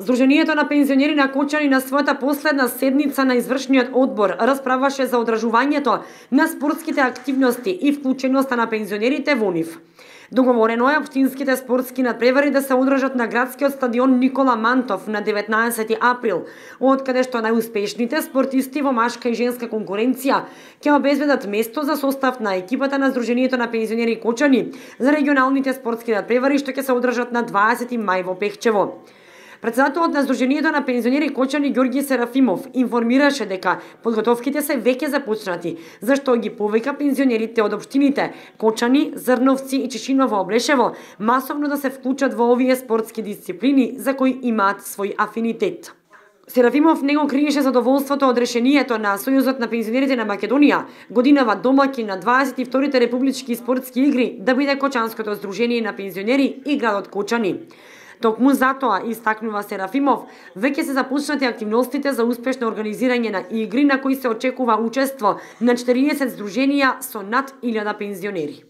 Здруженијето на пензионери на Кочани на својата последна седница на извршниот одбор расправаше за одржувањето на спортските активности и вклученоста на пензионерите во нив. Договорено е општинските спортски надпревари да се одржат на градскиот стадион Никола Мантов на 19 април, од каде што најуспешните спортисти во машка и женска конкуренција ќе обезбедат место за состав на екипата на Здруженијето на пензионери Кочани за регионалните спортски надпревари што ќе се одржат на 20 мај во Пехчево. Председателот на Здруженијето на пензионери Кочани Ѓорѓи Серафимов информираше дека подготовките се веќе започнати, зашто ги повика пензионерите од општините Кочани, Зрновци и Чешиново Облешево масовно да се вклучат во овие спортски дисциплини за кои имаат свој афинитет. Серафимов не го криеше задоволството од решението на Сојузот на пензионерите на Македонија, годинава домаќин на 22-те републички спортски игри, да биде Кочанското здружение на пензионери и градот Кочани. Токму затоа, истакнува Серафимов, веќе се започнати активностите за успешно организирање на игри на кои се очекува учество на 40 здруженија со над 1000 пензионери.